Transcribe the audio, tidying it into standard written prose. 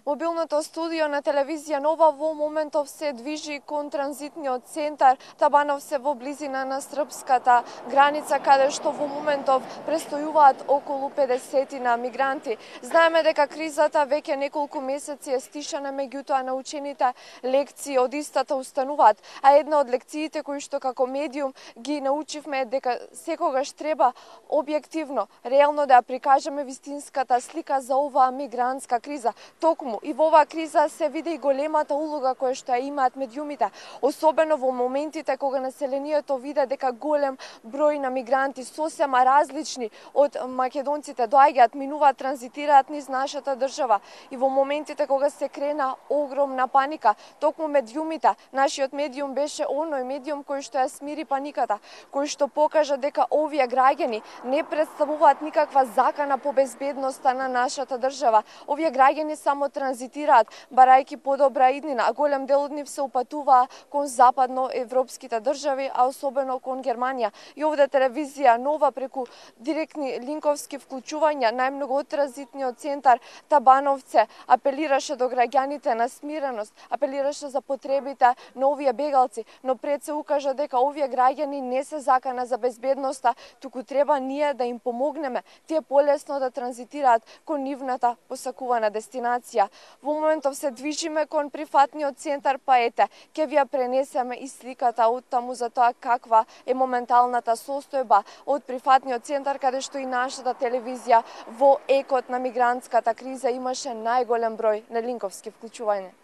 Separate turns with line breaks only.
Мобилното студио на телевизија Нова во моментов се движи кон транзитниот центар Табановце во близина на српската граница, каде што во моментов престојуваат околу 50 мигранти. Знаеме дека кризата веќе неколку месеци е стишана, меѓутоа научените лекции од истата устануваат, а една од лекциите кои што како медиум ги научивме е дека секогаш треба објективно, реално да ја прикажеме вистинската слика за оваа мигрантска криза. Токму и во оваа криза се види и големата улога која што ја имаат медиумите, особено во моментите кога населението виде дека голем број на мигранти сосема различни од македонците доаѓаат, минуваат, транзитираат низ нашата држава, и во моментите кога се крена огромна паника, токму медиумите, нашиот медиум беше оној медиум кој што ја смири паниката, кој што покажа дека овие граѓани не представуваат никаква закана по безбедноста на нашата држава. Овие граѓани само транзитираат, барајќи подобра иднина, а голем дел од нив се упатуваа кон западноевропските држави, а особено кон Германија. И овде телевизија Нова преку директни линковски вклучувања, најмногу од транзитниот центар Табановце, апелираше до граѓаните на смиреност, апелираше за потребите на овие бегалци, но пред се укажа дека овие граѓани не се закана за безбедноста, туку треба ние да им помогнеме, тие полесно да транзитираат кон нивната посакувана дестинација. Во моментов се движиме кон прифатниот центар, па ете, ќе ви ја пренесеме и сликата од таму за тоа каква е моменталната состојба од прифатниот центар, каде што и нашата телевизија во екот на мигрантската криза имаше најголем број на линковски вклучувања.